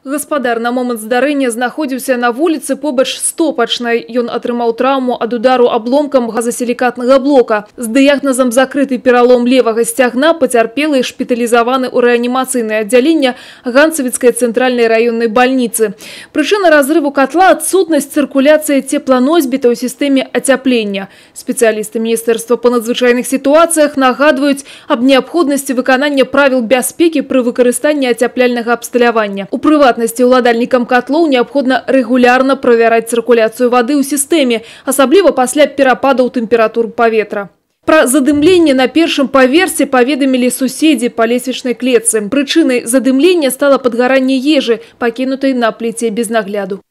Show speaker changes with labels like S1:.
S1: Гаспадар на момант здарэння знаходзіўся на вуліцы побач з топачнай. Ён атрымаў траўму ад удару абломкам газасілікатнага блока. З дыягназам закрыты пералом левага сцягна пацярпелы шпіталізаваны ў рэанімацыйнае аддзяленне Ганцавіцкай цэнтральнай раённай бальніцы. Прычына разрыву катла – адсутнасць цыркуляцыі цепланосьбіта ў сістэме ацяплення. Спецыялісты Міністэрства па надзвычайных сітуацыях нагадваюць аб неабходнасці выканання правіл бяспекі пры выкарыстанні ацяпляльнага абсталявання. У прыватнасці ўладальнікам котлоў неабходна рэгулярна правяраць цыркуляцыю вады ў сістэме, асабліва пасля перападаў тэмператур паветра. Пра задымленне на першым паверсе паведамілі суседзі па лесвічнай клетцы. Прычынай задымлення стала падгаранне ежы, пакінутай на пліце без нагляду.